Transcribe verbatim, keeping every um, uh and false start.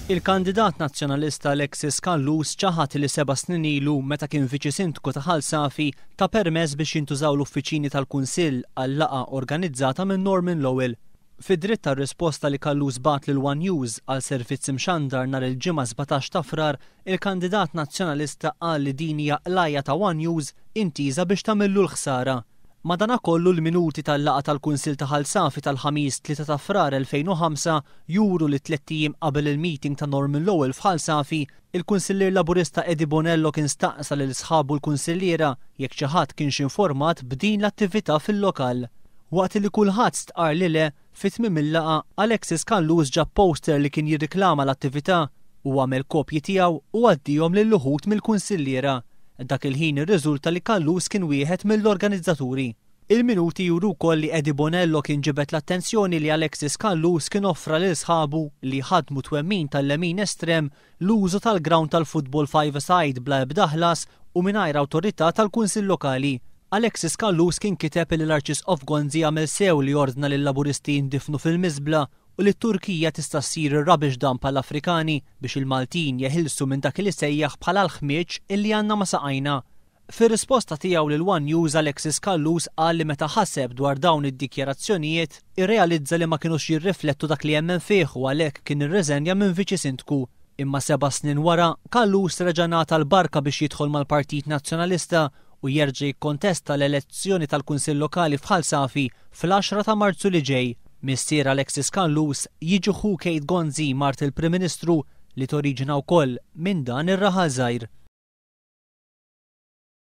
Il-kandidat nazzjonalista Alexis Callus ċaħat li seba' snin ilu meta kien viċi sindku ta' Ħal Safi ta permess biex jintużaw l-uffiċini tal-Kunsill għal laqgħa organizzata minn Norman Lowell. Fid-dritt tar-risposta li Callus bagħat lil One News għal servizz imxandar nhar il-Ġimgħa sbatax ta' Frar, il-kandidat nazzjonalista qal li din hija qlajja ta' One News intiża biex tagħmillu l-ħsara. Madanakollu l-minuti tal-laqgħa tal-Kunsill ta' Ħal Safi tal-Ħamis tlieta ta' Frar elfejn u ħamsa juru li tlett ijiem qabel il-meeting ta' Norman Lowell f'Ħal Safi, il-Kunsillier Laburista Eddie Bonello kien staqsa lil sħabu l-kunsilliera jekk xi ħadd kienx informat b'din l-attività fil-lokal. Waqt li kulħadd stqar li le, fi tmiem il-laqgħa Alexis Callus ġab poster li kien jirriklama l-attività u għamel kopji tiegħu u għaddihom lil uħud mill-kunsilliera. Dak il-ħin irriżulta li Callus kien wieħed mill-organizzaturi. Il-minuti juru wkoll li Eddie Bonello kien ġibed l-attenzjoni li Alexis Callus kien offra lil sħabu li ħadmu twemmin tal-lemin estrem l-użu tal-ground tal-football five-a-side bla ebda ħlas u mingħajr awtorità tal-Kunsill Lokali. Alexis Callus kien kiteb li l-Arċisqof Gonzi għamel sew li ordna lil laburisti jindifnu fil-miżbla u li t-Turkija tista' ssir ir-rubbish dump għall-Afrikani biex il-Maltin jeħilsu minn dak li sejjaħ bħala l-ħmieġ illi għandna ma saqajna. Fir-risposta tiegħu lil One News Alexis Callus qal li meta ħaseb dwar dawn id-dikjarazzjonijiet irrealizza li ma kinux jirriflettu dak li jemmen fih u għalhekk kien irreżenja minn viċi sindku. Imma seba' snin wara, Callus reġa' ngħata l-barka biex jidħol mal-Partit Nazzjonalista u jerġa' jikkontesta l-elezzjoni tal-Kunsill Lokali f'Ħal Safi fl-għaxra ta' Marzu li ġej. Missier Alexis Callus jiġi ħu Kate Gonzi, mart il-Prim Ministru, li toriġina wkoll minn dan ir-raħal żgħir.